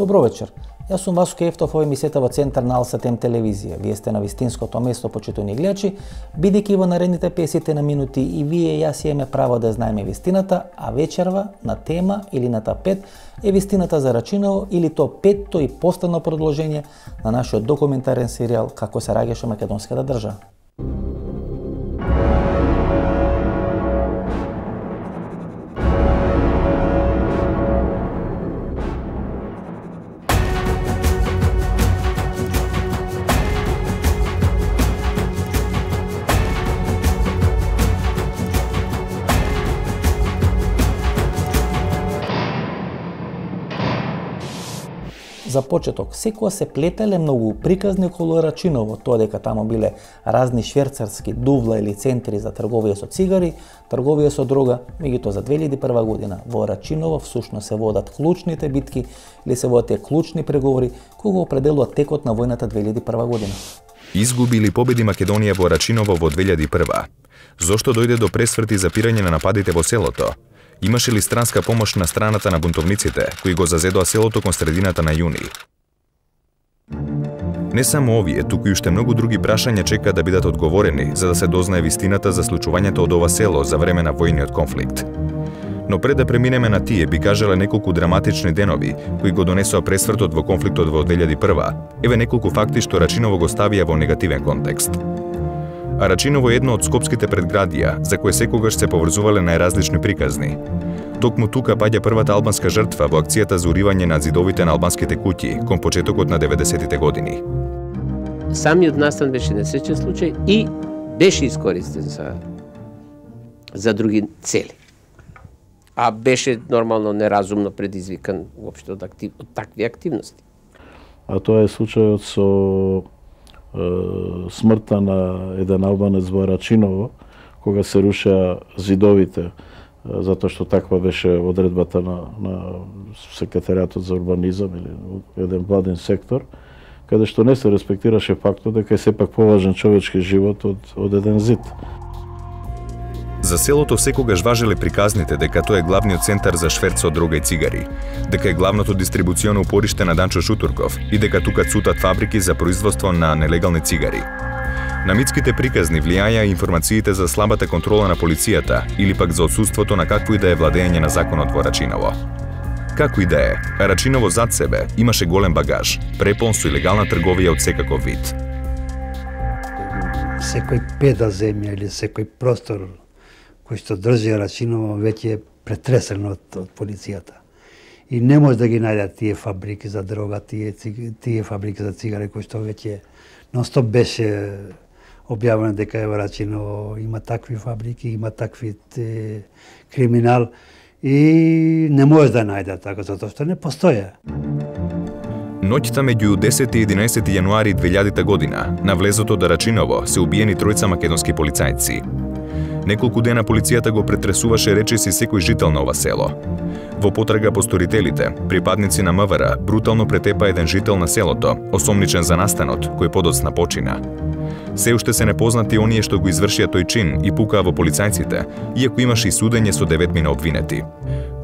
Добро вечер. Јас сум Васко Ефтов, ова емисијата во Центар на Алсатем телевизија. Вие сте на вистинското место, почитувани гледачи, бидејќи во наредните 50 на минути и вие и јас имаме право да знаеме вистината, а вечерва на тема или на тапет е вистината за Рачиново или то петто и последно продолжение на нашиот документарен серијал Како се раѓаше македонската држава. За почеток, секоја се плетеле многу приказни околу Рачиново, тоа дека таму биле разни шверцарски дувла или центри за трговија со цигари, трговија со дрога, меѓутоа за 2001 година во Рачиново всушност се водат клучните битки или се водат тие клучни преговори кои го определуваат текот на војната 2001 година. Изгуби или победи Македонија во Рачиново во 2001? Зошто дојде до пресврт и запирање на нападите во селото? Имаше ли странска помош на страната на бунтовниците, кои го зазедоа селото кон средината на јуни? Не само овие, туку и уште многу други прашања чека да бидат одговорени за да се дознае вистината за случувањето од ова село за време на војниот конфликт. Но пред да преминеме на тие, би кажале неколку драматични денови кои го донесоа пресвртот во конфликтот во 2001, еве неколку факти што Рачиново го ставија во негативен контекст. А Рачиново е едно од скопските предградија, за кое секогаш се поврзувале најразлични приказни. Токму тука паѓа првата албанска жртва во акцијата за уривање на зидовите на албанските куќи кон почетокот на 90-тите години. Самиот настан беше несреќен случај и беше искористен за други цели. А беше нормално неразумно предизвикан воопшто од такви активности. А тоа е случајот со смртта на еден албанец во Рачиново, кога се рушеа зидовите, затоа што таква беше одредбата на секретаријатот за урбанизам или еден владен сектор, каде што не се респектираше фактот дека е сепак поважен човечки живот од еден зид. За селото секогаш важеле приказните дека тоа е главниот центар за шверц со дрога и цигари, дека е главното дистрибуционо упориште на Данчо Шутурков и дека тука цутат фабрики за производство на нелегални цигари. На митските приказни влијаја информациите за слабата контрола на полицијата или пак за отсуството на какво и да е владење на законот во Рачиново. Како и да е, Рачиново зад себе имаше голем багаж, препон со илегална трговија од секаков вид. Секој педа земја или секој простор кој што држи Рачиново веќе е претресен од полицијата. И не може да ги најдат тие фабрики за дрога, тие фабрики за цигари кои што веќе нонстоп беше објавено дека во Рачиново има такви фабрики, има такви криминал и не може да најдат така затоа што не постоја. Ноќта меѓу 10 и 11 јануари 2000 година на влезото до Рачиново се убиени тројца македонски полицајци. Неколку дена полицијата го претресуваше речиси секој жител на ова село. Во потрага по сторителите, припадници на МВР брутално претепа еден жител на селото, осомничен за настанот, кој подоцна почина. Се уште се непознати оние што го извршија тој чин и пукаа во полицајците, иако имаше и судење со 9 обвинети.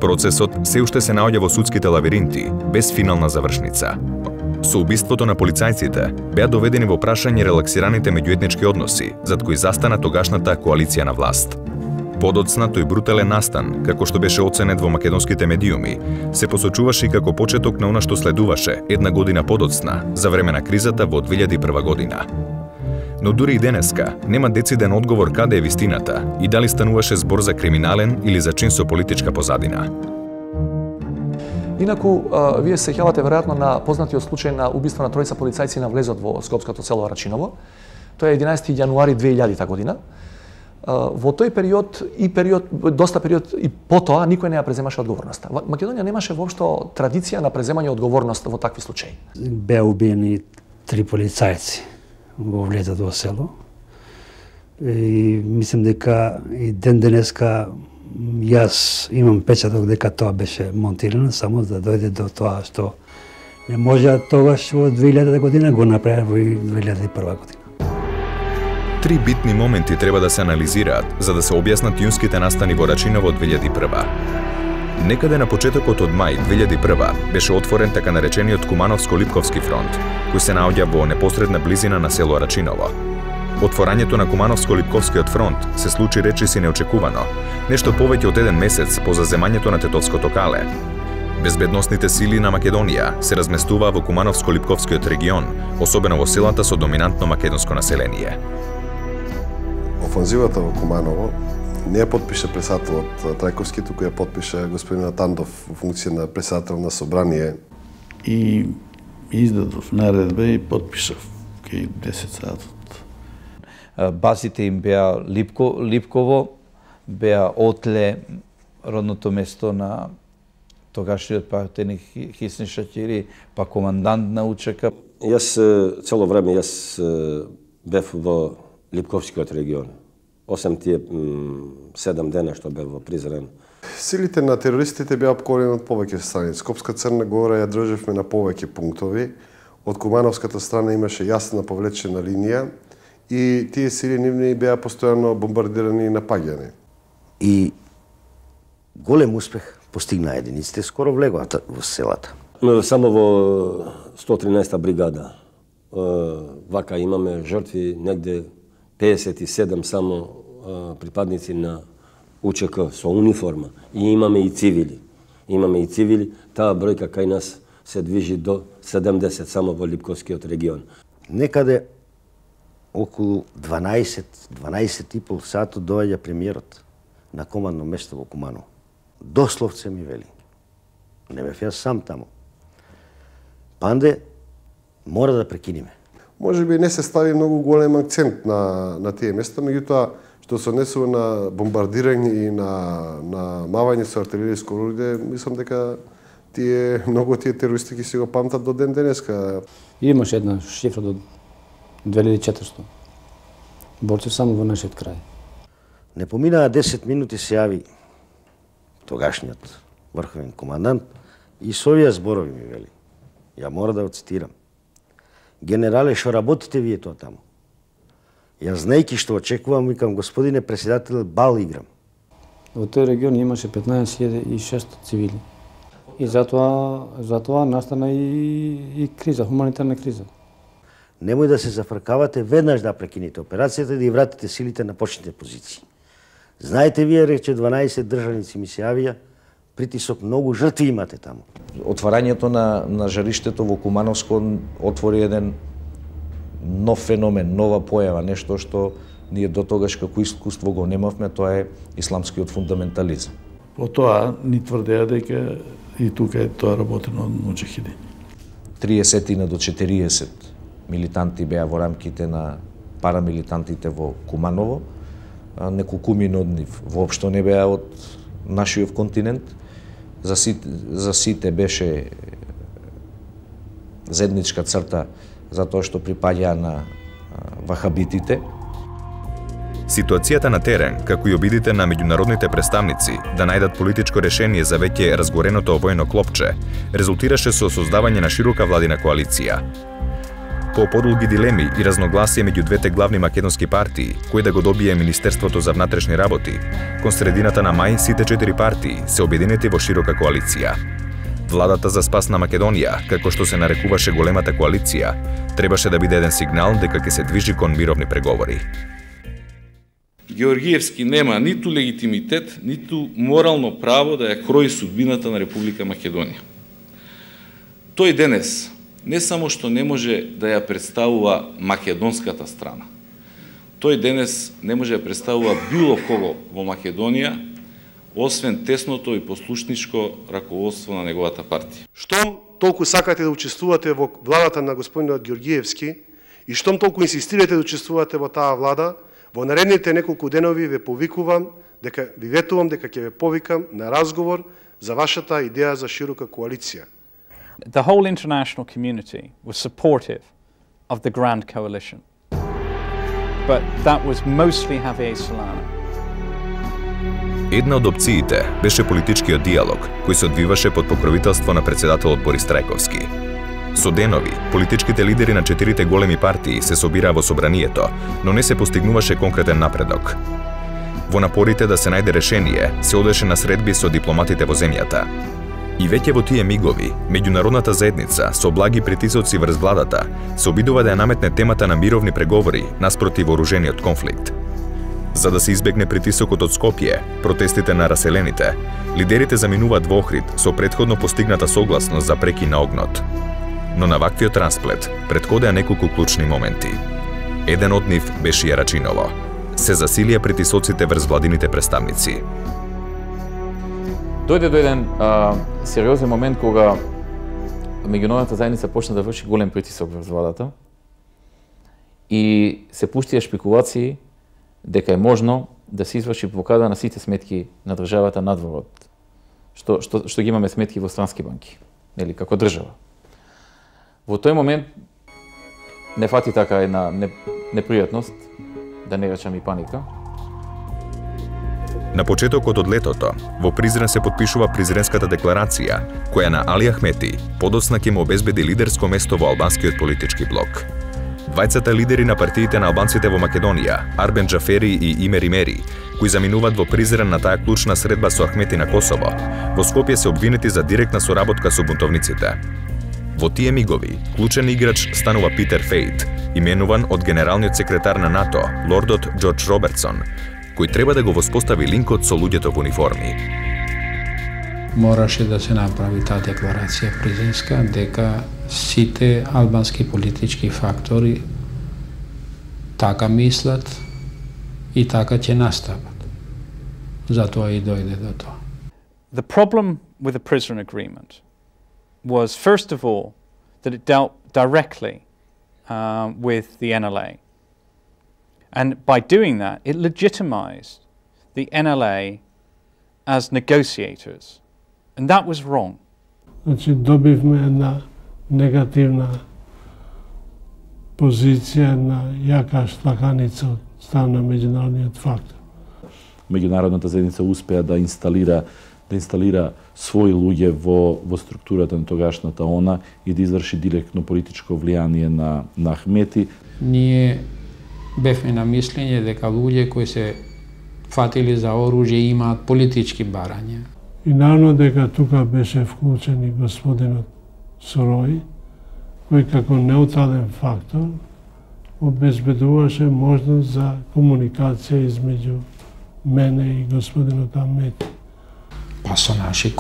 Процесот се уште се наоѓа во судските лавиринти, без финална завршница. Со убиството на полицајците беа доведени во прашање релаксираните меѓуетнички односи, зад кои застана тогашната коалиција на власт. Подоцна тој брутален настан, како што беше оценет во македонските медиуми, се посочуваше и како почеток на она што следуваше една година подоцна, за време на кризата во 2001 година. Но дури и денеска нема дециден одговор каде е вистината и дали стануваше збор за криминален или за чин со политичка позадина. Инаку, вие се сеќавате веројатно на познатиот случај на убиство на тројца полицајци на влезот во скопското село Рачиново. Тоа е 11 јануари 2000 година. Во тој период доста период и потоа никој не ја преземаше одговорноста. Македонија немаше воопшто традиција на преземање одговорност во такви случаи. Беа убиени 3 полицајци во влезот во село. И мислам дека и ден денеска јас имам печаток дека тоа беше монтирано само да дојде до тоа што не може тогаш во 2000 година го направи во 2001 година. Три битни моменти треба да се анализираат за да се објаснат јунските настани во Рачиново од 2001. Некаде на почетокот од мај 2001 беше отворен така наречениот Кумановско-Липковски фронт, кој се наоѓа во непосредна близина на село Рачиново. Отворањето на Кумановско-Липковскиот фронт се случи речиси неочекувано, нешто повеќе од еден месец по заземањето на Тетовското кале. Безбедносните сили на Македонија се разместуваа во Кумановско-Липковскиот регион, особено во селата со доминантно македонско население. Офанзивата во Куманово не ја подпише председателот Трајковски, туку ја подпише господин Атандов во функција на председател на собрание. И издадов наредба и подпишав кај 10 сатот. Базите им беа Липково, беа Отле, родното место на тогашниот партеник Хисни Шакири, па командант на УЧК. Јас цело време бев во Липковскиот регион. 8 тие 7 дена што бев во Призрен. Силите на терористите беа опкорени од повеќе страни. Скопска Црна Гора ја држевме на повеќе пунктови. Од Кумановската страна имаше јасна повлечена линија и тие сили нивни беа постојано бомбардирани и напаѓани. И голем успех постигна единиците, скоро влегоа во селата. Само во 113-та бригада. Вака имаме жртви негде 57 само припадници на УЧК со униформа. И имаме и цивили. Таа бројка кај нас се движи до 70 само во Липковскиот регион. Некаде околу 12,5 сато доаѓа премиерот на командно место во Куманово. Дословце ми вели. Не бев јас сам таму. Панде, мора да прекиниме. Може би не се стави многу голем акцент на тие места, меѓутоа што се однесува на бомбардирање и на мавање со артилериско оружје, мислам дека многу тие терористи ќе си го памтат до ден денеска. Имаше една шифра до 2400 борци само во нашиот крај. Не поминаа 10 минути се јави тогашниот врховен командант и со овие зборови ми вели. Ја мора да го цитирам. Генерале, што работите вие тоа таму? Јас знаејќи што очекувам, викам, господине председател, бал играм. Во тој регион имаше 15.600 цивили. И затоа настана и криза, хуманитарна криза. Немој да се зафркавате, веднаш да прекините операцијата и да ја вратите силите на почните позиции. Знаете вие, рече 12 државници ми се јавија, притисок, многу жртви имате таму. Отварањето на жариштето во Кумановско отвори еден нов феномен, нова појава, нешто што ние до тогаш како искуство го немавме, тоа е исламскиот фундаментализам. По тоа ни тврдеа дека и тука е тоа работено од муџахидини. 30 до 40 милитанти беа во рамките на парамилитантите во Куманово, неколкумина од нив воопшто не беа од нашиот континент. За сите беше заедничка црта затоа што припаѓаа на вахабитите. Ситуацијата на терен, како и обидите на меѓународните представници да најдат политичко решение за веќе разгореното војно клопче, резултираше со создавање на широка владина коалиција. По подолги дилеми и разногласие меѓу двете главни македонски партии, кој да го добие Министерството за внатрешни работи, кон средината на мај сите 4 партии се обединети во широка коалиција. Владата за спас на Македонија, како што се нарекуваше големата коалиција, требаше да биде еден сигнал дека ќе се движи кон мировни преговори. Георгиевски нема ниту легитимитет, ниту морално право да ја крои судбината на Република Македонија. Тој денес не само што не може да ја представува македонската страна, тој денес не може да представува било кого во Македонија, освен тесното и послушничко раководство на неговата партија. Штом толку сакате да учествувате во владата на господинот Георгиевски и штом толку инсистирате да учествувате во таа влада, во наредните неколку денови ве ветувам дека ќе ве повикам на разговор за вашата идеја за широка коалиција. The whole international community was supportive of the Grand Coalition, but that was mostly Javier Solana. Една од опциите беше политичкиот диалог, кој се одвиваше под покровителство на председателот Борис Трајковски. Со денови, политичките лидери на 4 големи партии се собираа во собранието, но не се постигнуваше конкретен напредок. Во напорите да се најде решение, се одеше на средби со дипломатите во земјата. И веќе во тие мигови, меѓународната заедница со благи притисоци врз владата се обидува да ја наметне темата на мировни преговори наспроти вооружениот конфликт. За да се избегне притисокот од Скопје, протестите на раселените, лидерите заминуваат во Охрид со претходно постигната согласност за прекин на огнот. Но на ваквиот расплет претходеа неколку клучни моменти. Еден од нив беше Јарачиново. Се засилија притисоците врз владините представници. Дојде до еден сериозен момент кога меѓународната заедница почна да врши голем притисок врз владата и се пуштија шпекулации дека е можно да се изврши блокада на сите сметки на државата надвор од што ги имаме сметки во странски банки, нели, како држава. Во тој момент не фати така една непријатност, да не речам и паника. На почетокот од летото, во Призрен се потпишува Призренската декларација, која на Али Ахмети подоцна ќе му обезбеди лидерско место во албанскиот политички блок. Двајцата лидери на партиите на албанците во Македонија, Арбен Джафери и Имер Имери, кои заминуваат во Призрен на таа клучна средба со Ахмети на Косово, во Скопје се обвинети за директна соработка со бунтовниците. Во тие мигови, клучен играч станува Питер Фейт, именуван од генералниот секретар на НАТО, лордот Џорџ Робертсон, кој треба да го воспостави линкот со луѓето во униформи. Мораше да се направи таа декларација Призренска дека сите албански политички фактори така мислат и така ќе настават. Затоа и дојде до тоа. The problem with the prison agreement was, first of all, that it dealt directly with the NLA. And by doing that, it legitimized the NLA as negotiators. And that was wrong. Значи, добивме една негативна позиција, на јака штаканица од страна на меѓународниот фактор. Меѓународната заедница успеа да инсталира своји луѓе во структурата на тогашната ОНА и да изврши директно политичко влијание на Ахмети. Ние бевме на мислење дека луѓе кои се фатили за оружје имаат политички барања. И наравно дека тука беше вклучен и господинот Сорој, кој како неутрален фактор обезбедуваше можност за комуникација измеѓу мене и господинот Ахмети. Па со наши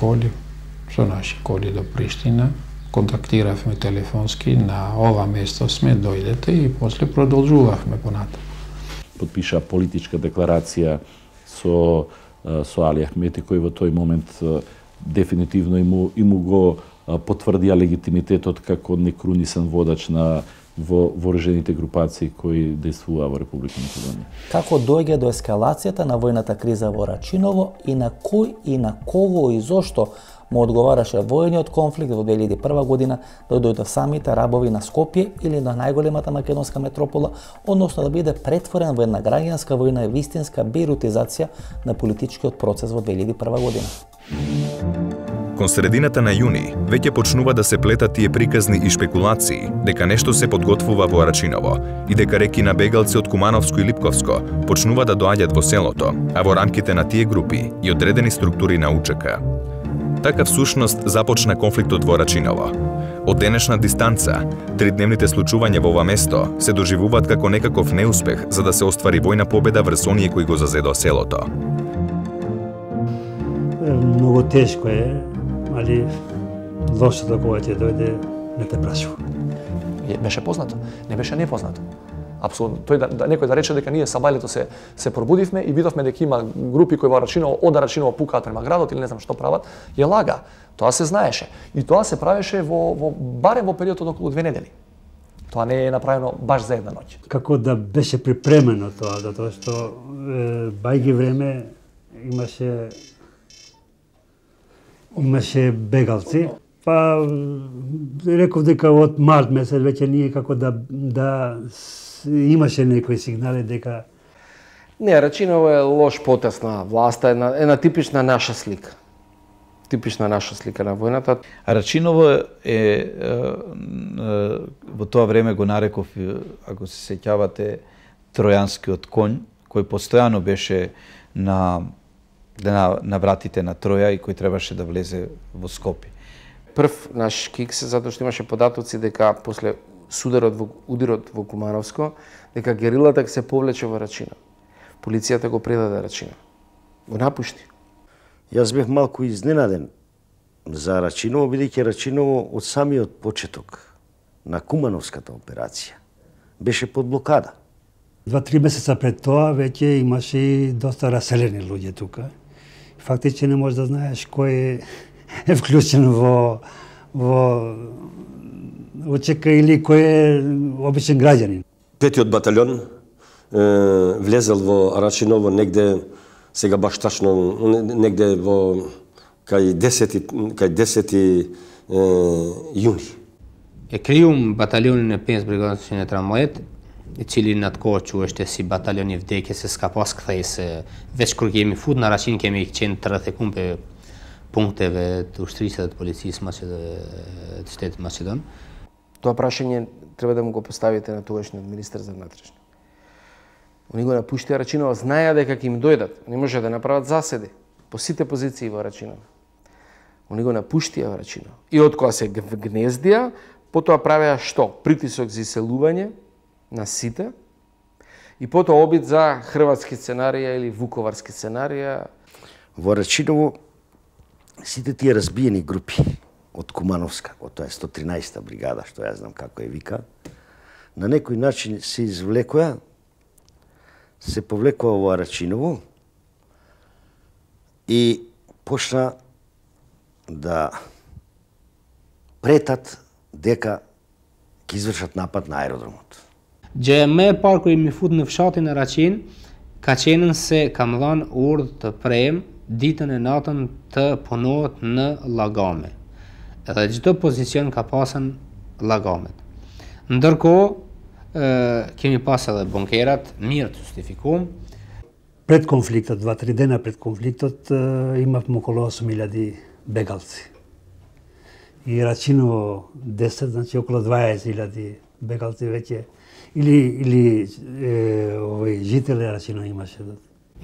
коли до Приштина, контактиравме телефонски, на ова место сме, дојдете, и после продолжувавме понатаму. Подпиша политичка декларација со Али Ахмети, кој во тој момент дефинитивно и му го потврдија легитимитетот како некрунисен водач на вооружените групации кои действуваа во Република Македонија. Како доаѓа до ескалацијата на војната криза во Рачиново и на кој и на кого и зошто му одговараше војниот конфликт во 2001 година да дојде до самите арабови на Скопје или на најголемата македонска метропола, односно да биде претворен во една граѓанска војна и вистинска бейрутизација на политичкиот процес во 2001 година. Кон средината на јуни веќе почнува да се плетат тие приказни и шпекулации дека нешто се подготвува во Рачиново и дека реки на бегалци од Кумановско и Липковско почнува да доаѓаат во селото, а во рамките на тие групи и одредени структури на УЧК. Така всушност започна конфликтот во Рачиново. Од денешна дистанца, тридневните случувања во ова место се доживуваат како некаков неуспех за да се оствари војна победа врз оние кои го зазедоа селото. Многу тешко е, али лошото кога ќе дојде не те прашува. Беше познато, не беше непознато. Апсолутно. Тој некој да рече дека ние сабајлето се пробудивме и видовме дека има групи кои во Рачиново, од Рачиново пукаат према градот или не знам што прават, ја лага. Тоа се знаеше. И тоа се правеше барем во периодот од околу 2 недели. Тоа не е направено баш за една ноќ. Како да беше припремено тоа, затоа што бајги време имаше бегалци. Па реков дека од март месец веќе ние како да имаше некои сигнали дека не, Рачиново е лош потез на власта, една типична наша слика. Типична наша слика на војната. Рачиново е во тоа време го нареков, ако се сеќавате, тројанскиот конј, кој постојано беше на вратите на Троја и кој требаше да влезе во Скопје. Прв наш кикс, затоа што имаше податоци дека после ударот во Кумановско, дека герилата ќе се повлече во Рачино. Полицијата го предаде Рачино. Го напушти. Јас бев малку изненаден за Рачиново, бидејќи Рачиново од самиот почеток на Кумановската операција беше под блокада. 2-3 месеца пред тоа веќе имаше и доста раселени луѓе тука. Фактички не можеш да знаеш кој е вклучен во ОЧК или кој е обичен граѓанин. Петиот батальон влезел во Рачиново негде, сега баш тачно, негде во кај 10 јуни. Е криум батальјони на 5 бригадници на Трамвајот, цели надкочуваше си батальјони вдеќе се скапоската и се веќе кога ќе ми фуд на Рачин ќе ми центарате кумпе пунктеве уштрисат полицијски штет Македон. Тоа прашање треба да му го поставите на тогашниот министер за внатрешни. Они го напуштија Рачиново, знаеа дека ќе им дојдат, не може да направат заседи по сите позиции во Рачиново. Они го напуштија во Рачиново. И од кога се гнездија, потоа правеа што? Притисок за иселување на сите и потоа обид за хрватски сценарија или вуковарски сценарија. Во Рачиново сите тие разбиени групи од Кумановска, од тоа е 113-та бригада, што јас знам како е вика, на некој начин се извлекоа, се повлекоа во Рачиново и почна да претат дека ќе извршат напад на аеродромот. Gjë më e parë kur mi fut në fshatin e Racin, ka qenën se kam dhënë urdhë të prem ditën e natën të punohet në llagame. Edhe çdo pozicion ka pasën llagamet. Ndërkohë kemi pas edhe bunkerat mirë të justifikuar. Пред конфликтот, 2-3 дена пред конфликтот, имавме околу 8.000 бегалци. И Рачиново 10, значи околу 20.000 бегалци веќе или жители Рачино имаше.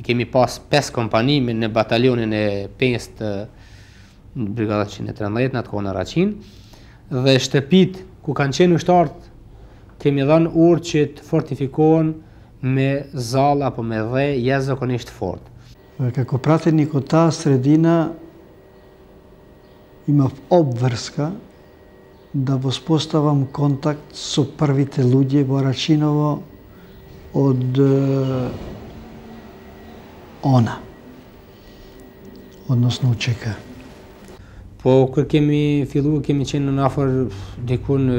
Kemi pas 5 kompani në batalionin e 5 të Brigada 113 në atë kohë në Racin, dhe shtëpit ku kanë qenë ushtarët kemi dhënë urdhë që të fortifikohen me zalla apo me dhe jashtëzakonisht fort. Како пратеник од таа средина имав обврска да воспоставам контакт со првите луѓе во Рачиново од она, односно УЧК. Po kur kemi filluar kemi qenë në afër diku në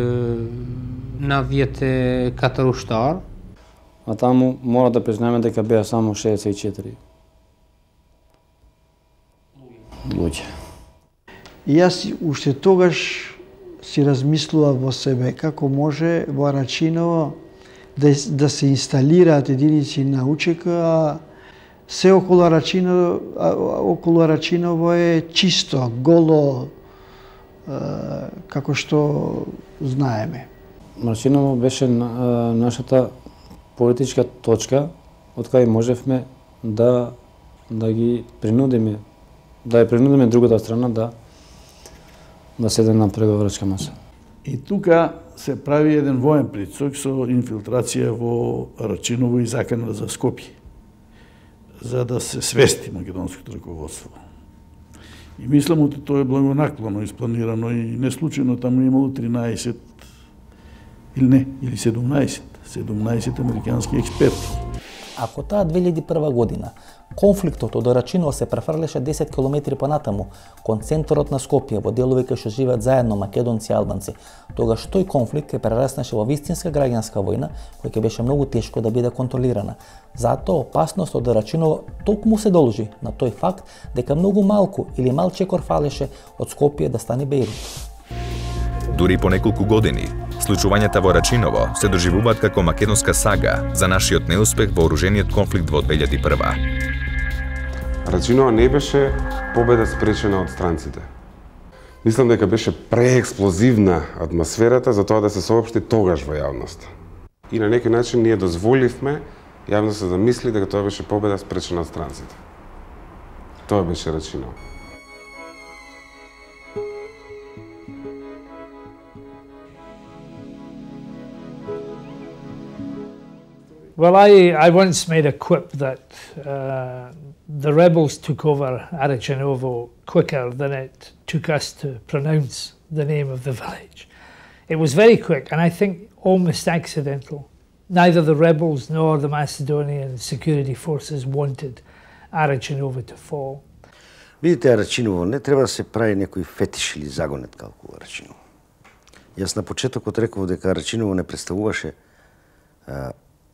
94 ushtar. А таму мора да признаеме дека беа само 64 луѓе. И јас уште тогаш си размислував во себе како може во Рачиново да се инсталираат единици на УЧК, а се околу Рачиново е чисто, голо, како што знаеме. Рачиново беше нашата политичка точка од кај можевме да ги принудиме, да ја принудиме другата страна да седне на преговорачка маса. И тука се прави еден воен притисок со инфилтрација во Рачиново и закана за Скопје, за да се свести македонското раководство. И мислам дека тоа е благонаклоно испланирано и не случајно таму имало 13 или 17 американски експерти. Ако таа 2001 година конфликтот од Рачиново се префрлеше 10 километри понатаму кон центарот на Скопје во делови кај што живеат заедно македонци и албанци, тогаш тој конфликт ќе прераснеше во вистинска граѓанска војна која ќе беше многу тешко да биде контролирана. Затоа опасност од Рачиново токму се должи на тој факт дека многу малку или мал чекор фалеше од Скопје да стане Бејрут. Дури по неколку години, случувањата во Рачиново се доживуваат како македонска сага за нашиот неуспех во оружениот конфликт во 2001. Рачиново не беше победа спречена од странците. Мислам дека беше преексплозивна атмосферата за тоа да се соопшти тогаш во јавност. И на некој начин ние дозволивме Јавноста да мисли дека тоа беше победа спречена од странците. Тоа беше Рачиново. Well, I once made a quip that the rebels took over Arachinovo quicker than it took us to pronounce the name of the village. It was very quick, and I think almost accidental. Neither the rebels nor the Macedonian security forces wanted Arachinovo to fall. Видите, Арачиново не треба да се прави некој фетиш или загонет како Арачиново. Јас на почетокот реков дека Арачиново не представуваше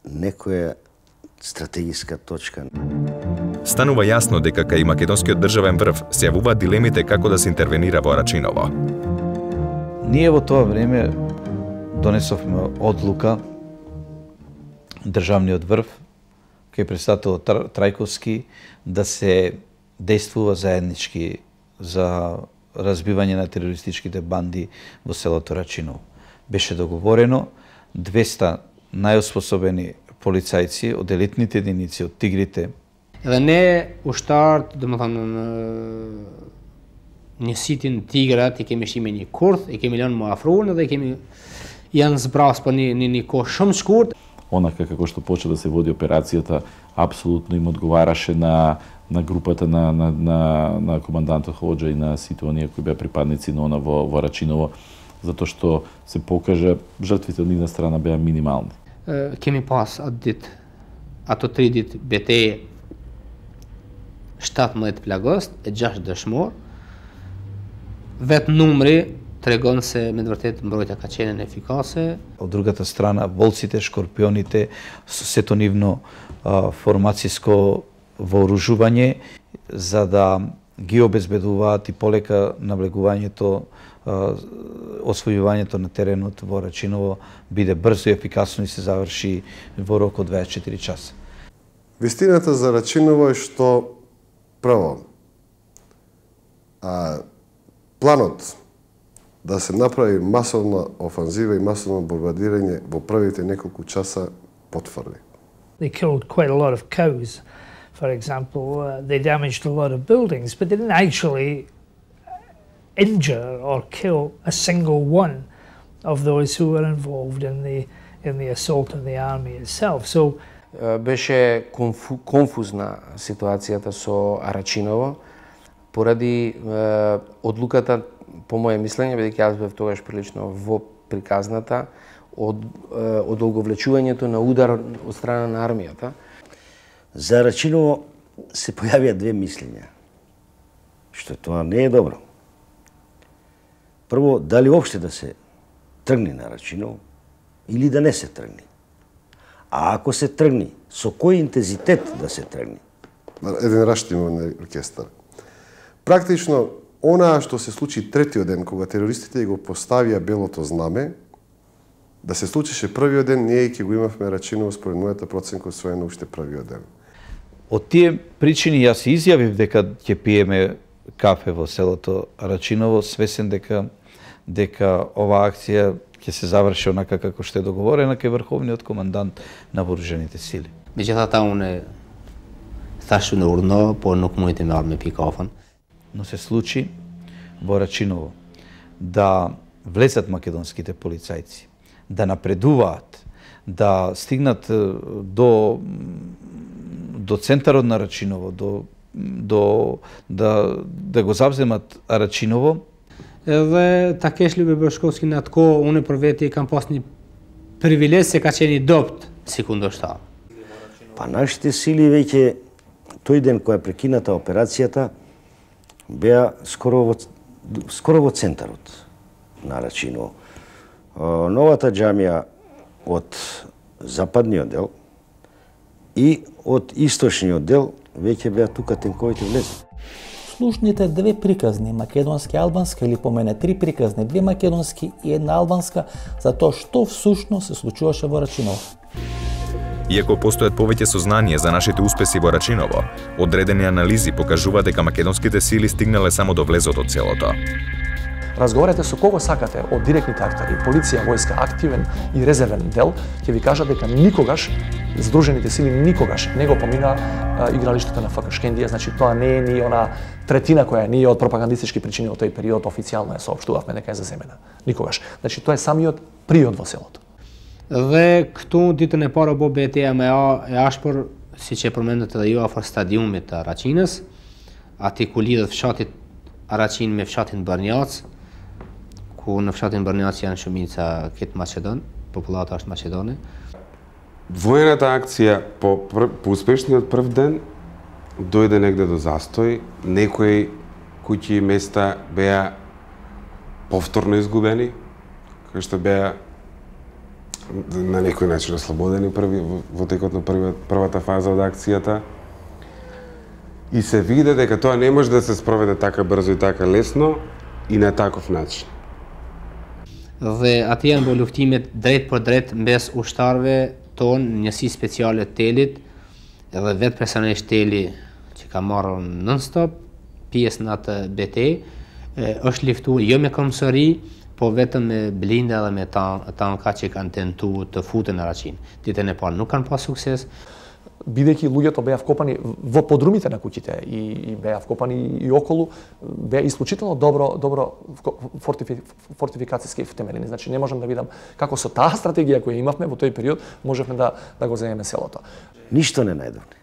некоја стратегиска точка. Станува јасно дека кај македонскиот државен врв се јавуваат дилемите како да се интервенира во Рачиново. Ние во тоа време донесовме одлука државниот врв кај председател Трајковски да се действува заеднички за разбивање на терористичките банди во селото Рачиново. Беше договорено 200 најоспособени полицајци од елитните единици, од тигрите. Edhe ne ushtarët, domethënë një sitin tigrat i kemi shime një kurth, i kemi lënë më afruar dhe janë zbras për një kohë shumë shkurt. Онака како што почна да се води операцијата, апсолутно им одговараше на групата на командантот Хоџа и на сите оние кои беа припадници на она во Рачиново, затоа што се покажа жртвите од нивна страна беа минимални. Kemi pas ato 3 ditë betejë 17 plagost e 6 dëshmor. Vetë numri tregon se me të vërtetë mbrojtja ka qenë efikase. Од другата страна, волците, шкорпионите, сето нивно формацијско вооружување за да ги обезбедуваат и полека навлегувањето, освојувањето на теренот во Рачиново биде брзо и ефикасно и се заврши во рок од 24 часа. Вистината за Рачиново е што прво планот да се направи масовна офанзива и масовно бомбардирање во првите неколку часа потврди. They killed quite a lot of cows, for example. They damaged a lot of buildings, but they didn't actually injure or kill a single one of those who were involved in the assault on the army itself. So беше конфузна ситуацијата со Арачиново поради одлуката, по моје мислење, бидејќи јас бев тогаш прилично во приказната, одолговлечувањето на удар од страна на армијата. За Рачиново се појавија две мислења, што тоа не е добро. Прво, дали уопште да се тргне на Рачиново или да не се тргне. А ако се тргне, со кој интензитет да се тргне? Еден раштимен оркестар. Практично, онаа што се случи третиот ден, кога терористите го поставија белото знаме, да се случише првиот ден, ние ќе го имавме Рачиново според мојата проценка освоено уште првиот ден. Од тие причини јас изјавив дека ќе пиеме кафе во селото Рачиново, свесен дека оваа акција ќе се заврши онака како што е договорена кај врховниот командант на вооружените сили. Меѓутоа, уне thashë në urno, por nuk mund të marr me pikafën. Но се случи во Рачиново да влезат македонските полицајци, да напредуваат, да стигнат до центарот на Рачиново, да го завземат Рачиново. Edhe ta kesh Lybe Bashkovski në atë kohë, unë për veti kam pas një privilegj se ka qenë i dopt si kundërshtar. Па нашите сили веќе тој ден која прекината операцијата беа скоро во центарот на Рачиново. Новата џамија од западниот дел и од источниот дел веќе беа тука тенковите влезли. Слушните две приказни, македонски и албанска, или помене 3 приказни, 2 македонски и 1 албанска, за тоа што всушност се случуваше во Рачиново. Иако постојат повеќе сознание за нашите успеси во Рачиново, одредени анализи покажуваат дека македонските сили стигнале само до влезот од селото. разговарате со кого сакате од директните актери, полиција, војска, активен и резервен дел, ќе ви кажат дека никогаш Здружените сили никогаш не го помина игралиштето на ФК Шкендија, значи тоа не е ни она третина која ние од пропагандистички причини од тој период официјално ја соопштувавме дека е заземена. Никогаш. Значи тоа е самиот приод во селото. Dhe këtu ditën e parë bo betejë më e ashpër siç e përmendët edhe ju afër stadiumit të Araçinës, aty ku lidhet fshati Araçin me fshatin Barnjac, ku në fshatin Barnjac janë shumica këtë Maqedon, popullata është Maqedone. Војната акција по успешниот прв ден дојде негде до застој, некои куќи и места беа повторно изгубени, кои што беа на некој начин ослободени во текот на првата фаза од акцијата. И се виде дека тоа не може да се спроведе така брзо и така лесно и на таков начин. Dhe aty janë bo luftimet drejt për drejt mbes ushtarëve tonë, njësi speciale të telit, edhe vetë personalisht teli që ka marrë non-stop pjesë në atë betejë, është luftu jo me komisari, po vetëm me blinda dhe me tanka që kanë tentu të futen në Araçin. Ditën e parë nuk kanë pas sukses. Бидејќи луѓето беа вкопани во подрумите на куќите и беа вкопани и околу, беа исклучително добро фортификацијски втемелени. Значи не можам да видам како со таа стратегија која имавме во тој период можевме да го земеме селото. Ништо не најдовме.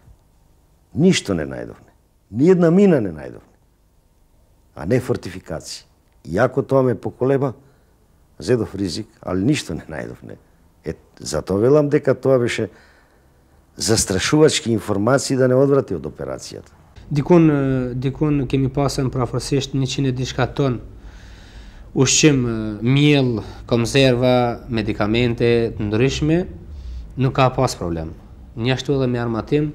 Ништо не најдовме. Ни една мина не најдовме. А не фортификација. Иако тоа ме поколеба, зедов ризик, али ништо не најдовме. Затоа велам дека тоа беше застрашувачки информации да не одврати од операцијата. Dikun kemi pasën prafërsisht 100 diçka ton ushqim, miell, konserva, medikamente të ndryshme, nuk ka pas problem. Njashtu edhe me armatim,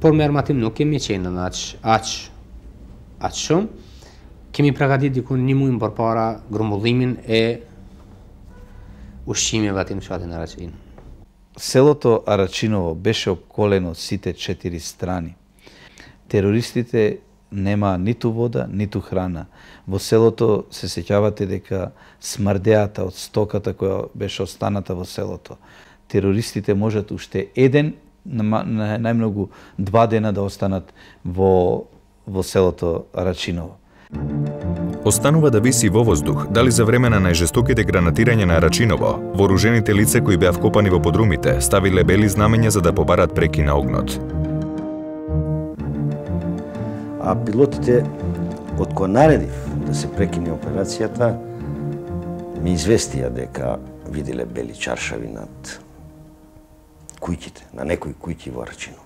por me armatim nuk kemi qenë në aq shumë. Kemi përgatit dikun 1 muaj më përpara grumbullimin e ushqimeve aty në fshatin Araçin. Селото Арачиново беше обколено од сите 4 страни. Терористите нема ниту вода, ниту храна. Во селото се сеќавате дека смрдеата од стоката која беше останата во селото. Терористите можат уште еден, најмногу 2 дена да останат во селото Арачиново. Останува да виси во воздух дали за време на најжестоките гранатирања на Арачиново, вооружените лица кои беа вкопани во подрумите ставиле бели знамења за да побарат преки на огнот. А пилотите, од кога наредив да се прекине операцијата, ми известија дека виделе бели чаршави над куќите, на некои куќи во Арачиново.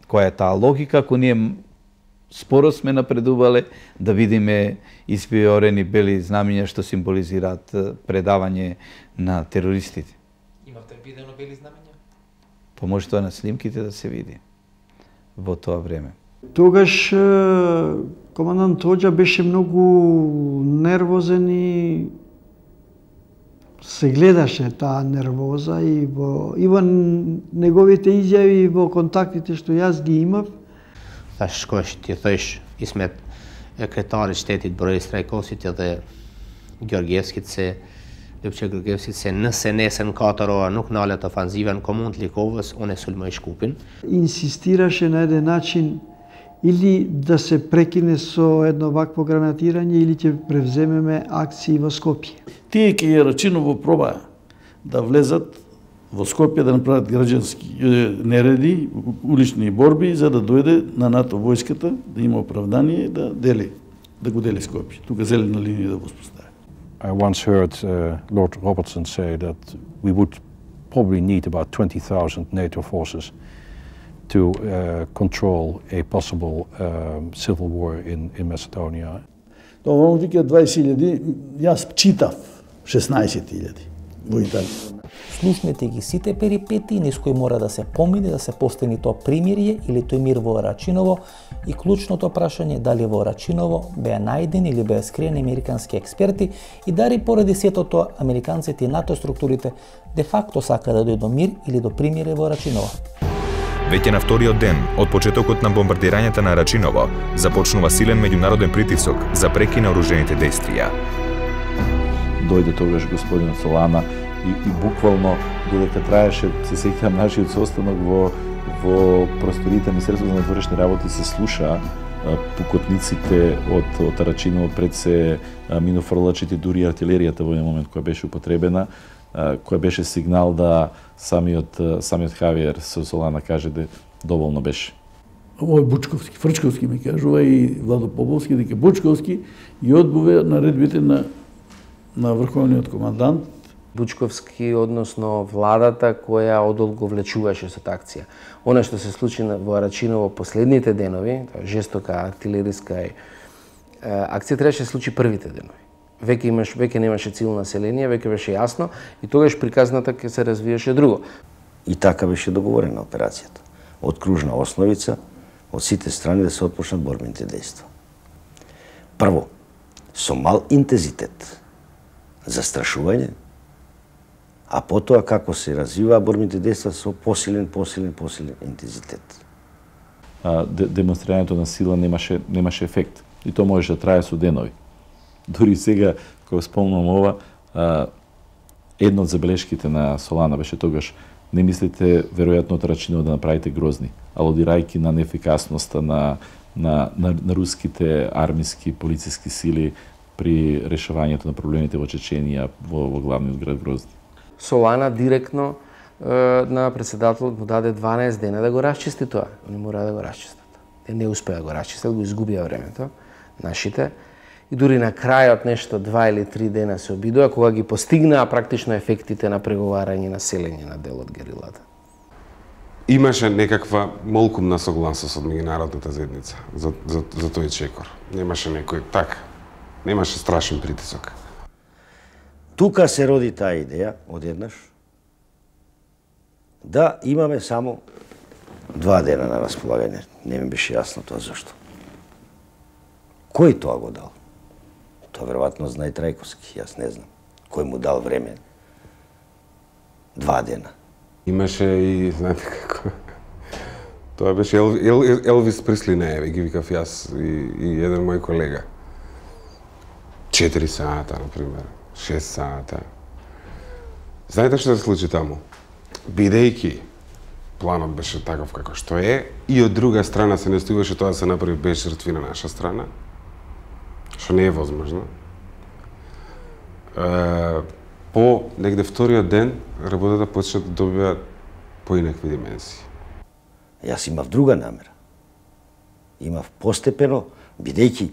Која е таа логика, ако ние споро сме напредувале да видиме испиорени бели знамења што символизираат предавање на терористите. Имавте видено бели знамења? Па може тоа на снимките да се види во тоа време. Тогаш командант Хоџа беше многу нервозен и се гледаше таа нервоза и во неговите изјави и во контактите што јас ги имав. Thash shkosh ti thësh Ismet kretarit shtetit Boris Trajkosit edhe Georgievskit se Lëpçe Georgievskit se nëse nesër në 4 ora nuk nalet ofanziva në komunë të Likovës, unë e sulmoj Shkupin. Insistirаше на еден начин или да се прекине со едно вакво гранатирање или ќе превземеме акции во Скопје. Тие ке Арачиново пробаа да влезат во Скопје да направат граѓански нереди, улични борби, за да дојде на НАТО војската, да има оправдание да го дели Скопје. Тука зелена линија да воспостави. I once heard Lord Robertson say that we would probably need about 20,000 NATO forces to control a possible civil war in Macedonia. Тоа вика 20,000, јас читав 16,000 во Италија. Слушнете ги сите перипетии низ кои мора да се помине да се постигне тоа примирие или тој мир во Арачиново и клучното прашање дали во Арачиново беа најдени или беа скриени американски експерти и дали поради сето тоа американците и НАТО структурите де факто сака да дојде до мир или до примирие во Арачиново. Веќе на вториот ден од почетокот на бомбардирањата на Арачиново започнува силен меѓународен притисок за преки на оружените дејствија. дојде тогаш господинот Солана и буквално додека траеше, се сеќавам, нашиот состанок во просториите Министерството за надворешни работи се слуша пукотниците од Рачиново, пред се минофрлачите, дури артилеријата во еден момент која беше употребена, која беше сигнал да самиот Хавиер Солана каже да доволно беше. Овој Бучковски, Фрчковски ми кажува и Владо Поповски дека Бучковски и одбуве наредбите на врховниот командант. Бучковски, односно владата која одолго влечуваше со таа акција. Она што се случи во Рачиново последните денови, тоа жестока артилериска акција, требаше да се случи првите денови. Веќе немаше цивилно население, веќе беше јасно и тогаш приказната ќе се развиеше друго. И така беше договорена операцијата. Од кружна основица, од сите страни да се отпочнат борбените дејства. Прво, со мал интензитет, застрашување, а потоа како се развиваа борбените дејства со посилен интензитет. Демонстрирањето на сила немаше ефект и тоа можеше да трае со денови. Дури сега, кога спомнам ова, една од забелешките на Солана беше тогаш: не мислите веројатно од Рачиново да направите грозни, алудирајќи на неефикасноста на руските армиски полициски сили при решавањето на проблемите во Чеченија, во главниот град Грозни. Солана директно на председателот му даде 12 дена да го расчисти тоа. Они мора да го расчистат. Те не успеа да го расчистат, го изгубија времето, нашите. И дури на крајот нешто 2 или 3 дена се обидува, кога ги постигнаа практично ефектите на преговарање на селење на дел од герилата. Имаше некаква молкумна согласност од меѓународната заедница за тој чекор. Немаше некој немаше страшен притисок. Тука се роди таа идеја, одеднаш, да имаме само 2 дена на располагање. Не ми беше јасно тоа зашто. Кој тоа го дал? Тоа веројатно знае Трајковски, јас не знам. Кој му дал време? 2 дена. Имаше и, знаете како, тоа беше Елвис Пресли, не, ги викав јас и еден мој колега. 4 сата, например, 6 сата. Знаете што се случи таму? Бидејќи планот беше таков како што е, и од друга страна се настојуваше тоа да се направи без жртви на наша страна, што не е возможно. По негде вториот ден работата почна да добива поинакви дименсии. Јас имав друга намера. Имав постепено, бидејќи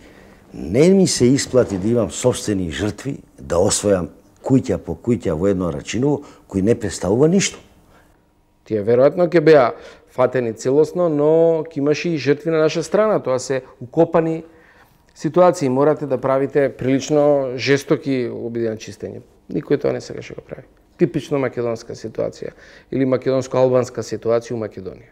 не ми се исплати да имам собствени жртви, да освојам куќа по куќа во едно Рачиново, кој не представува ништо. Тие веројатно ќе беа фатени целосно, но ќе имаше и жртви на наша страна. Тоа се укопани ситуации. Морате да правите прилично жестоки обиди на чистење. Никој тоа не сакаше го прави. Типично македонска ситуација или македонско-албанска ситуација у Македонија.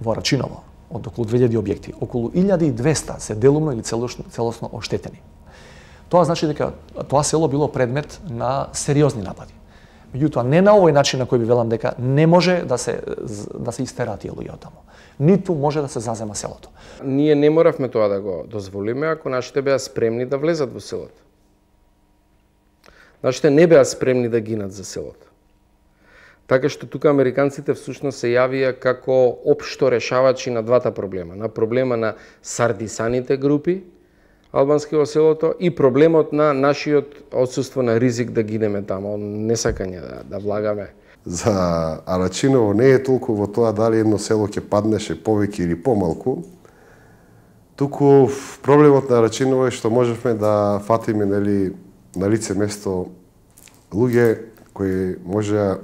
Во Рачиново, од околу 2000 објекти, околу 1200 се делумно или целосно оштетени. Тоа значи дека тоа село било предмет на сериозни напади. Меѓутоа, не на овој начин на кој би велам дека не може да се истераат тие луѓе од таму. Ниту може да се зазема селото. Ние не моравме тоа да го дозволиме ако нашите беа спремни да влезат во селото. Нашите не беа спремни да гинат за селото. Така што тука американците всушност се јавија како општо решавачи на двата проблема. На проблема на сардисаните групи албански во селото и проблемот на нашиот отсуство на ризик да гинеме таму, несакање да влагаме. За Рачиново не е толку во тоа дали едно село ќе паднеше повеќе или помалку, туку проблемот на Рачиново е што можевме да фатиме на лице место луѓе кои можеа,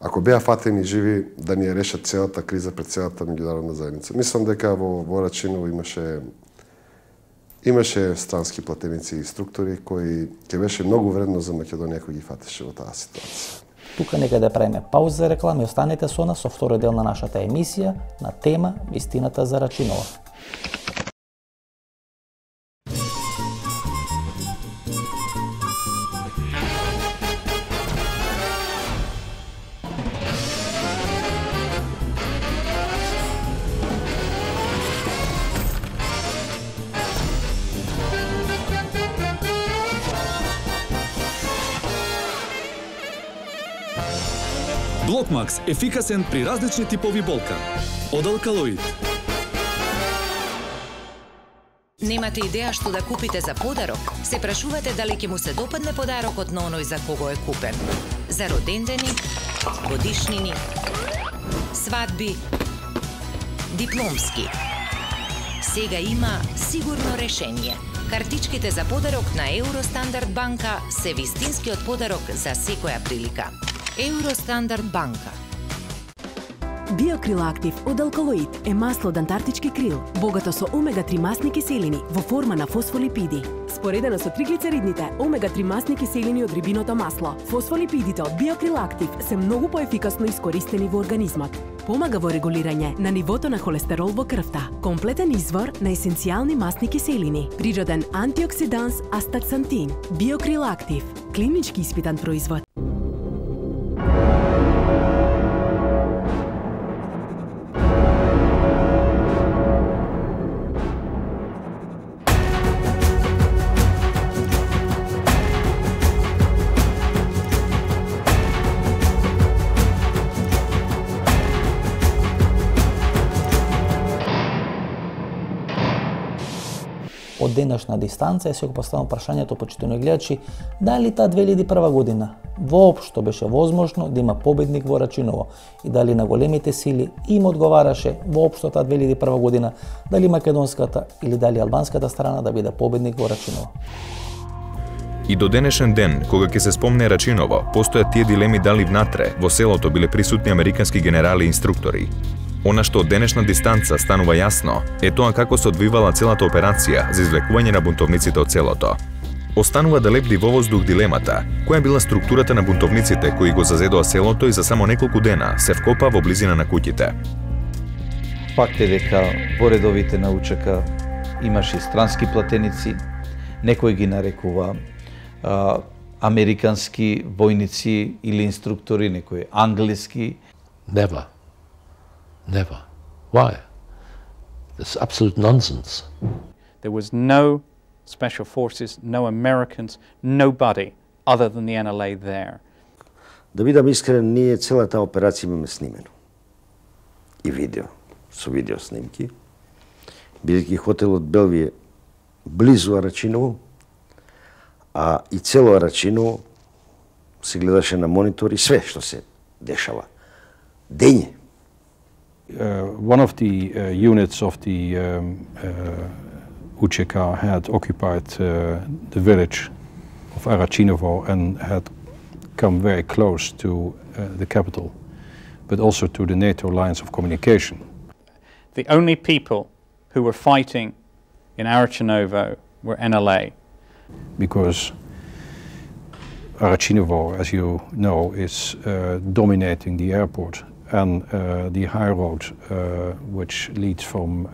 ако беа фатени живи, да ни ја решат целата криза пред целата меѓународна заедница. Мислам дека во Рачиново имаше странски платеници и структури кои ќе беше многу вредно за Македонија кој ги фатеше во таа ситуација. Тука нека да правиме пауза за реклама и останете со нас со вториот дел на нашата емисија на тема Вистината за Рачиново. Блокмакс ефикасен при различни типови болка. Од Алкалоид. Немате идеја што да купите за подарок? Се прашувате дали ќе му се допадне подарокот на оној за кого е купен. За родендени, годишнини, свадби, дипломски. Сега има сигурно решение. Картичките за подарок на Евростандард банка се вистинскиот подарок за секоја прилика. Евростандард банка. Биокрил Актив од Алкалоид е масло од антарктички крил, богато со омега-3 масни киселини во форма на фосфолипиди. Споредено со триглицеридните, омега-3 масни киселини од рибиното масло, фосфолипидите од Биокрил Актив се многу поефикасно искористени во организмот. Помага во регулирање на нивото на холестерол во крвта. Комплетен извор на есенцијални масни киселини. Природен антиоксиданс астаксантин. Биокрил Актив. Клинички испитан производ. Од денешна дистанца се го поставам прашањето, почитувани гледачи, дали таа 2001 година воопшто беше возможно да има победник во Рачиново и дали на големите сили им одговараше воопшто таа 2001 година дали македонската или дали албанската страна да биде победник во Рачиново. И до денешен ден, кога ќе се спомне Рачиново, постојат тие дилеми дали внатре, во селото, биле присутни американски генерали и инструктори. Она што од денешна дистанца станува јасно е тоа како се одвивала целата операција за извлекување на бунтовниците од селото. Останува да лебди во воздух дилемата, која била структурата на бунтовниците кои го зазедоа селото и за само неколку дена се вкопа во близина на куќите. Факт е дека во редовите на УЧК имаше странски платеници, некој ги нарекува американски војници или инструктори, некои англиски. Never. Why? It's absolute nonsense. There was no special forces, no Americans, nobody other than the NLA there. Да бидам искрен, ние целата операција имаме снимено. И видео, со видео снимки. Бидејќи хотелот Белвие близу Рачиново, а и цело Рачиново се гледаше на монитори све што се дешава. Дење. One of the units of the UČK had occupied the village of Arachinovo and had come very close to the capital, but also to the NATO lines of communication. The only people who were fighting in Arachinovo were NLA. Because Arachinovo, as you know, is dominating the airport and the high road which leads from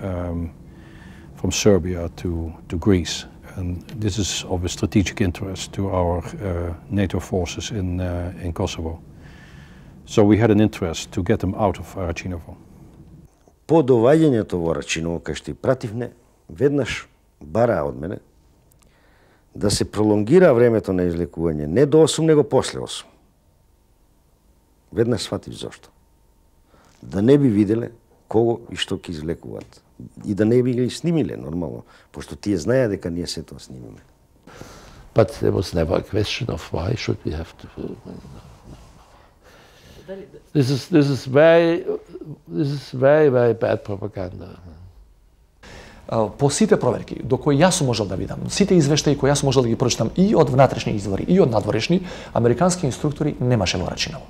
Serbia to Greece. And this is of a strategic interest to our NATO forces in Kosovo. So we had an interest to get them out of Arachinovo. По доваѓањето во Рачиново, кај што и пративне, веднаш бараа од мене да се пролонгира времето на излекување не до 8, него после 8. Веднаш сватив зошто. Да не би виделе кого и што ќе излекуваат. И да не би ги снимиле нормално, пошто тие знаеа дека ние се тоа снимиме. But there was never a question of why should we have to. This is very bad propaganda. По сите проверки до кои јас сум можел да видам, сите извештаи кои јас сум можел да ги прочитам и од внатрешни извори и од надворешни, американски инструктори немаше во Рачиново.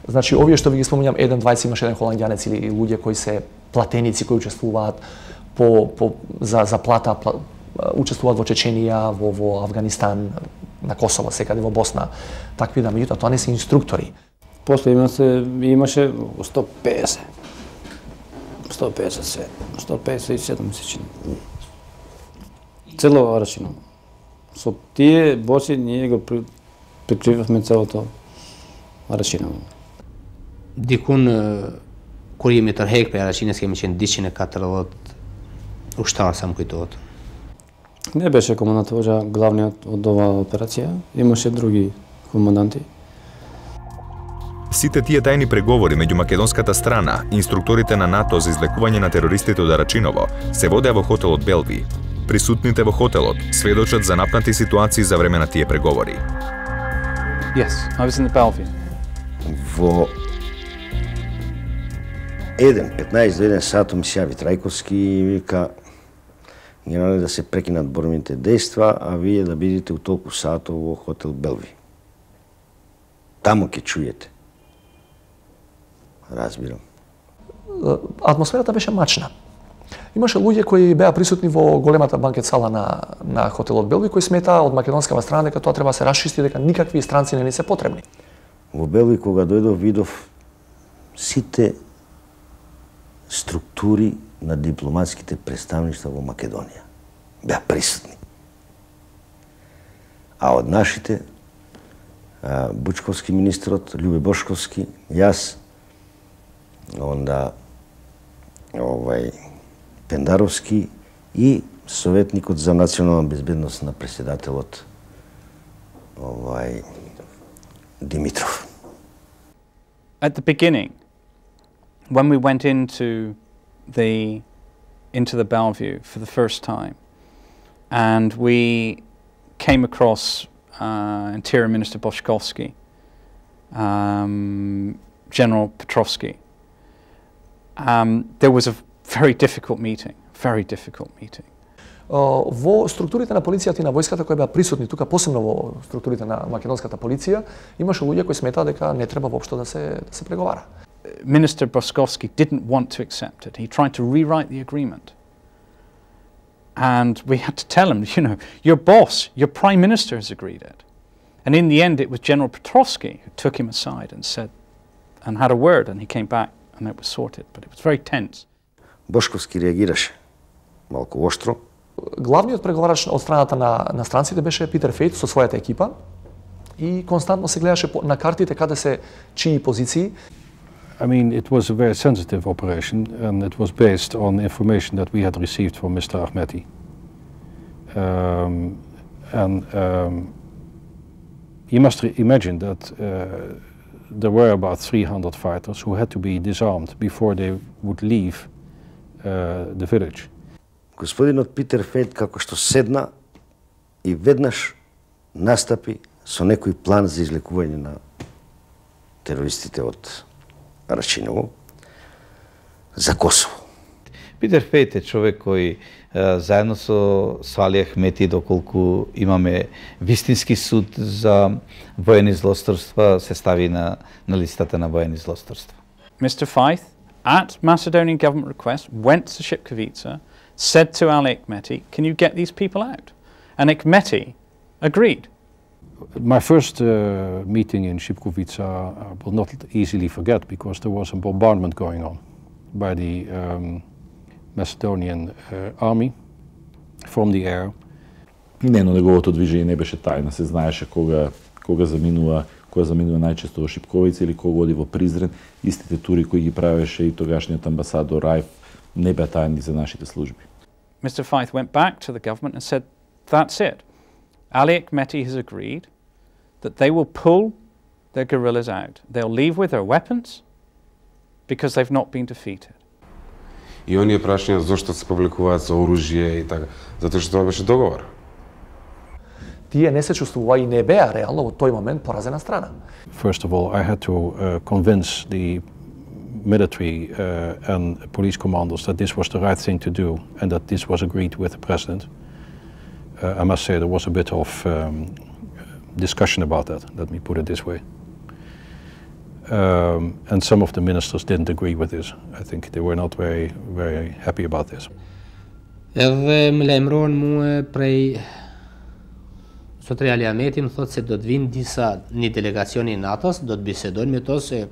Значи, овие што ви ги спомнувам, 1-20 имаше еден холандјанец или луѓе кои се платеници кои учествуваат за плата, учествуваат во Чеченија, во Афганистан, на Косово, секаде во Босна. Такви да, меѓутоа тоа не се инструктори. После имаше 150. 157 месечни. Цело Рачиново. Со тие боци ние го прикривавме целото Рачиново. Dikun kur jemi tërheq për Araqinës kemi qenë 240 ushtarë sa më kujtohet. Не беше командантот воđa главниот од оваа операција, имаше други команданти. Сите тие тајни преговори меѓу македонската страна и инструкторите на НАТО за излекување на терористите од Арачиново се водеа во хотелот Белви. Присутните во хотелот сведочат за напнати ситуации за време на тие преговори. Yes, I was in the Bellevue. Во 15 до 1 сато ми се јави Трајковски и вика генерале да се прекинат борбените дејства, а вие да бидете у толку сато во хотел Белви. Таму ќе чујете. Разбирам. Атмосферата беше мачна. Имаше луѓе кои беа присутни во големата банкет сала на хотелот Белви, кои сметаа од македонскава страна дека тоа треба да се расчисти, дека никакви странци не ни се потребни. Во Белви кога дојдов видов сите структури на дипломатските представништва во Македонија. Беа присутни. А од нашите, Бучковски министрот, Љубе Бошковски, јас, онда Пендаровски и советникот за национална безбедност на председателот Димитров. At the beginning, when we went into the Bellevue for the first time, and we came across Interior Minister Boškovski, General Petrovski, there was a very difficult meeting. Во структурите на полицијата и на војската кои беа присутни тука, посебно во структурите на македонската полиција, имаше луѓе кои сметаа дека не треба воопшто да се преговара. Minister Boškovski didn't want to accept it. He tried to rewrite the agreement. And we had to tell him, your boss, your prime minister has agreed it. And in the end, it was General Petrovski who took him aside and said, and had a word, and he came back and it was sorted. But it was very tense. Бошковски реагираше малку оштро. Главниот преговарач од страната на странците беше Питер Фејт со својата екипа и константно се гледаше на картите каде се чии позиции. I mean, it was a very sensitive operation, and it was based on information that we had received from Mr. Ahmeti. You must imagine that there were about 300 fighters who had to be disarmed before they would leave the village. Господинот Питер Фејт како што седна и веднаш настапи со некој план за излекување на терористите од Арачиново за Косово. Питер Фејт е човек кој заедно со Али Ахмети, доколку имаме вистински суд за воени злосторства, се стави на листата на воени злосторства. Mr. Feith, at Macedonian government request, went to Shipkovica, said to Ali Ahmeti, can you get these people out? And Ahmeti agreed. My first meeting in Shipkovica I will not easily forget, because there was a bombardment going on by the Macedonian army from the air. Неговото движење не беше тајна, се знаеше кога заминува најчесто во Шипковица или кога оди во Призрен. Истите тури кои ги правеше и тогашниот амбасадор Рајф не беа тајни за нашите служби. Mr. Feith went back to the government and said, that's it. Ali Ahmeti has agreed that they will pull their guerrillas out. They'll leave with their weapons because they've not been defeated. И оние прашања зошто се публикуваат со оружје и така, затоа што тоа беше договор. Тие не се чувствува и не беа реално во тој момент поразена страна. First of all, I had to convince the military and police commanders that this was the right thing to do and that this was agreed with the president. I must say there was a bit of discussion about that, let me put it this way. And some of the ministers didn't agree with this. I think they were not very, very happy about this. Edhe më lajmërohen mua prej Zotri Ali Ahmeti më thotë se do të vinë një delegacioni i NATO-s, do të bisedojnë me to se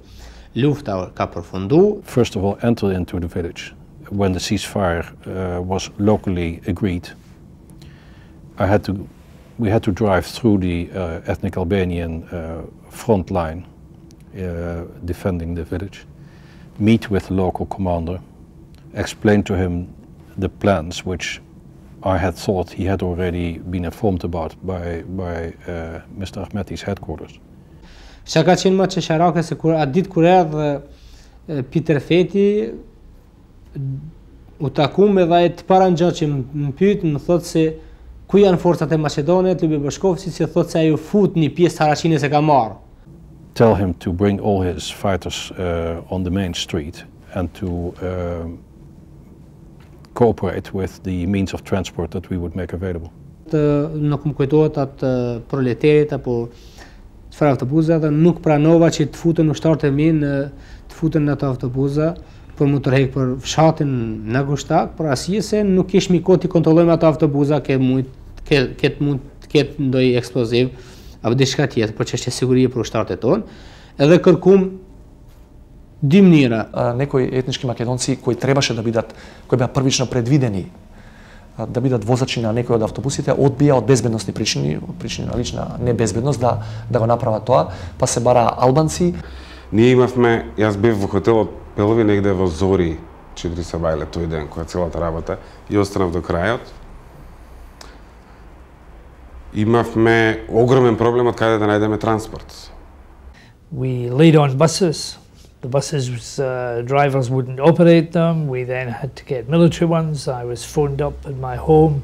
lufta ka përfundu. First of all, entered into the village when the ceasefire was locally agreed. We had to drive through the ethnic Albanian front line defending the village, meet with the local commander, explain to him the plans which I had thought he had already been informed about by Mr. Ahmeti's headquarters. Çka ka qenë më çesharake se kur atë ditë kur erdhi Peter Feti u takuam edhe ai të para ngjaç që më pyet, më thotë se ku janë forcat e Maqedonisë, klubi Bashkovci, si thotë se ai u fut një pjesë Haraçinës e ka marrë. Tell him to bring all his fighters on the main street and to cooperate with the means of transport that we would make available. Nuk më kujtohet atë proleterit apo çfarë autobuza dhe nuk pranova që të futen ushtarët e mi të futen në ato autobuza për mu tërheq për fshatin në Gushtak, për arsye se nuk kishmi kohë të kontrollojmë ato autobuza mund të ketë ndonjë eksploziv apo diçka tjetër për çështje sigurie për ushtarët e tonë. Edhe kërkum dy mënyra. Некои етнички македонци кои требаше да бидат, кои беа првично предвидени да бидат возачи на некои од автобусите, одбија од безбедносни причини на лична небезбедност да го направат тоа, па се бара албанци. Ние имавме, јас бев во хотелот Пелови негде во Зори, 4 сабајле тој ден, која целата работа, и останав до крајот. Имавме огромен проблем од каде да најдеме транспорт. We laid on buses. The buses, drivers wouldn't operate them. We then had to get military ones. I was phoned up at my home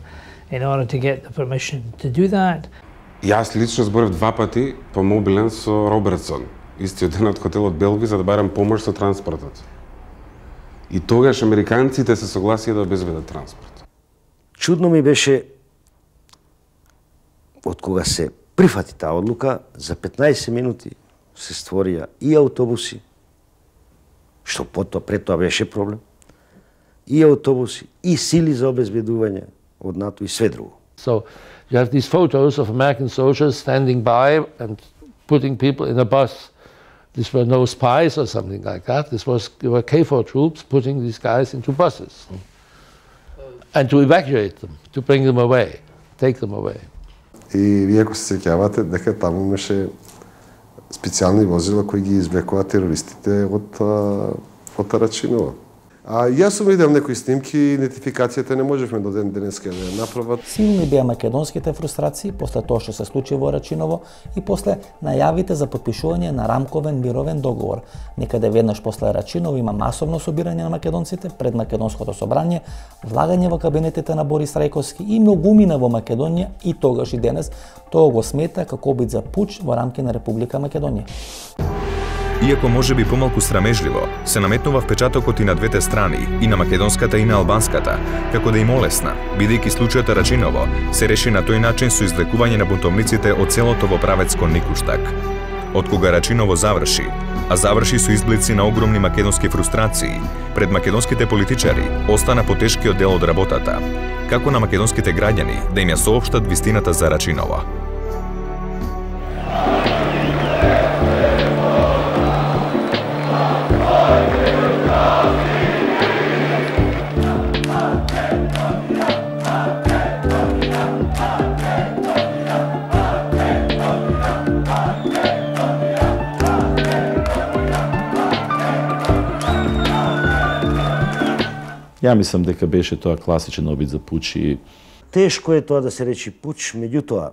in order to get the permission to do that. Јас лично зборев 2 пати по мобилен со Робертсон, истиот ден од хотелот Белви, за да барам помош со транспортот. И тогаш американците се согласија да обезбедат транспорт. Чудно ми беше од кога се прифати таа одлука, за 15 минути се створија и автобуси, што пред тоа беше проблем, и автобуси, и сили за обезбедување од НАТО и све друго. So you have these photos of American soldiers standing by and putting people in a bus. These were no spies or something like that. They were KFOR troops putting these guys into buses and to evacuate them, to bring them away, take them away. И вие ако се сеќавате дека таму имаше специјални возила кои ги извлекуваат терористите од Рачинова. Јас сум видел некои снимки, идентификацијата не можевме до ден денеска да ја направат. Силни беа македонските фрустрации после тоа што се случи во Рачиново и после најавите за потпишување на рамковен мировен договор. Некаде веднаш после Рачиново има масовно собирање на македонците пред Македонското собрање, влагање во кабинетите на Борис Трајковски и многумина во Македонија и тогаш и денес тоа го смета како обид за пуч во рамки на Република Македонија. Иако може би помалку срамежливо, се наметнува впечатокот и на двете страни, и на македонската и на албанската, како да им олесна, бидејќи случајот Рачиново се реши на тој начин со извлекување на бунтовниците од селото во правец кон Никуштак. Од кога Рачиново заврши, а заврши со изблици на огромни македонски фрустрации, пред македонските политичари остана потешкиот дел од работата, како на македонските граѓани да им ја соопштат вистината за Рачиново. Ја мислам дека беше тоа класичен обид за пуч и... Тешко е тоа да се речи пуч, меѓутоа,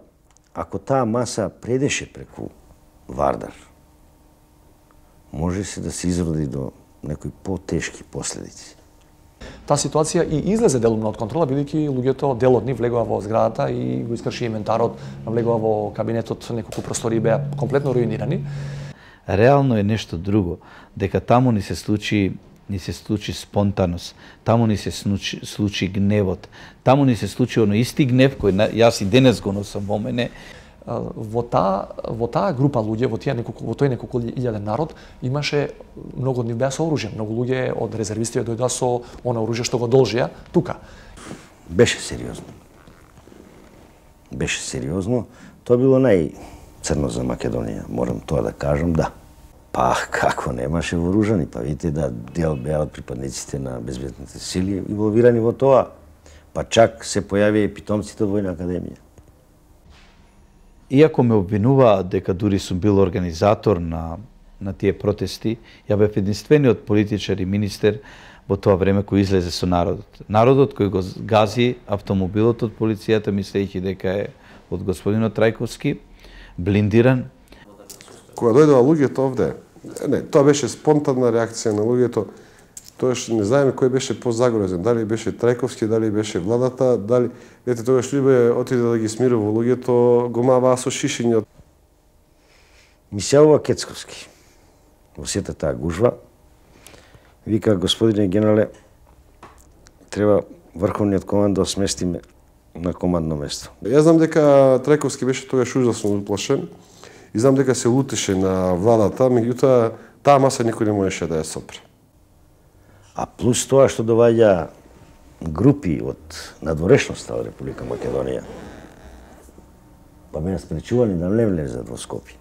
ако таа маса предеше преку Вардар, може се да се изроди до некои потешки последици. Таа ситуација и излезе делумно од контрола, бидејќи луѓето дел од нив влегува во зградата и го искрши инвентарот, влегува во кабинетот, неколку простори беа комплетно руинирани. Реално е нешто друго, дека таму ни се случи спонтаност, таму ни се случи гневот, таму ни се случи оно исти гнев кој јас и денес го носам во мене. Во таа група луѓе, во тој неколку илјаден народ, имаше многу од нив беа со оружје, многу луѓе од резервисти дојдоа со она оружје што го должија тука. Беше сериозно. Беше сериозно. Тоа било најцрно за Македонија, морам тоа да кажам, да. Па како немаше вооружани, па видите да дел беа од припадниците на безбедните сили инволвирани во тоа, па чак се појави и питомците од Војна академија. Иако ме обвинуваат дека дури сум бил организатор на тие протести, ја бев единствениот политичар и министер во тоа време кој излезе со народот. Народот кој го гази автомобилот од полицијата, мислејќи дека е од господинот Трајковски, блиндиран. Кога дојдоа луѓето овде, не, тоа беше спонтанна реакција на луѓето. Тоаш не знаеме кој беше позагрозен, дали беше Трајковски, дали беше владата, дали тогаш либе отиде да ги смирува луѓето, го маваа со шишиња. Ми се јавува Кецковски во сета таа гужва. Вика, господине генерале, треба врховниот команд да сместиме на командно место. Јас знам дека Трајковски беше тогаш ужасно уплашен и знам дека се лутеше на владата, меѓутоа таа маса никој не можеше да ја сопре. А плюс тоа што доваѓа групи од надворешноста од Република Македонија, па ме спречувани да не влезат во Скопје.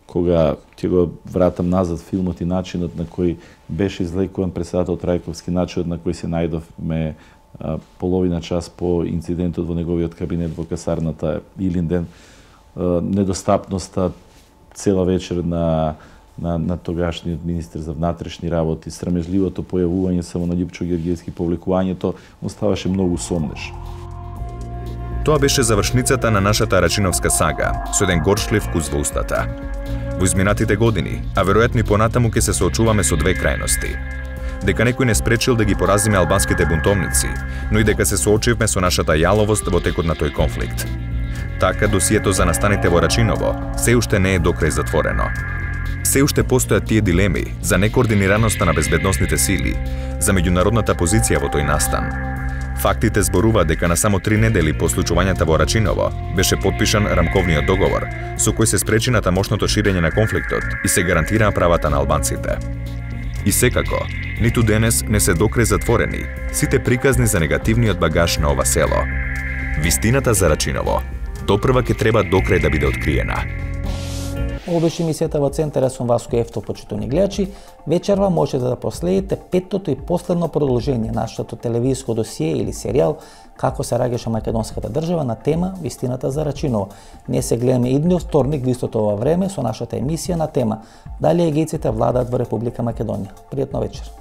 Кога ќе го вратам назад филмот и начинот на кој беше излекуван председател Трајковски, начинот на кој се најдовме половина час по инцидентот во неговиот кабинет во касарната Илинден, недостапноста цела вечер на тогашниот министер за внатрешни работи, срамежливото појавување само на Љупчо Георгиевски, повлекувањето, оставаше многу сомнеш. Тоа беше завршницата на нашата рачиновска сага, со еден горчлив вкус во устата. Во изминатите години, а веројатно и понатаму ќе се соочуваме со две крајности. Дека некој не спречил да ги поразиме албанските бунтовници, но и дека се соочивме со нашата јаловост во текот на тој конфликт. Така, досието за настаните во Рачиново се уште не е докрај затворено. Се уште постојат тие дилеми за некоординираноста на безбедносните сили, за меѓународната позиција во тој настан. Фактите зборуваат дека на само 3 недели по случувањата во Рачиново беше потпишан рамковниот договор, со кој се спречи на тамошното ширење на конфликтот и се гарантираа правата на албанците. И секако, ниту денес не се докрај затворени сите приказни за негативниот багаж на ова село. Вистината за Рачиново допрва ќе треба докрај да биде откриена. Ова беше емисијата во Центар, јас сум Васко Ефтов, почитувани гледачи. Вечерва можете да проследите петтото и последно продолжение нашето телевизиско досие или серијал Како се раѓаше македонската држава на тема Вистината за Рачиново. Ние се гледаме идниот вторник во истото ова време со нашата емисија на тема Дали егејците владаат во Република Македонија. Пријатно вечер.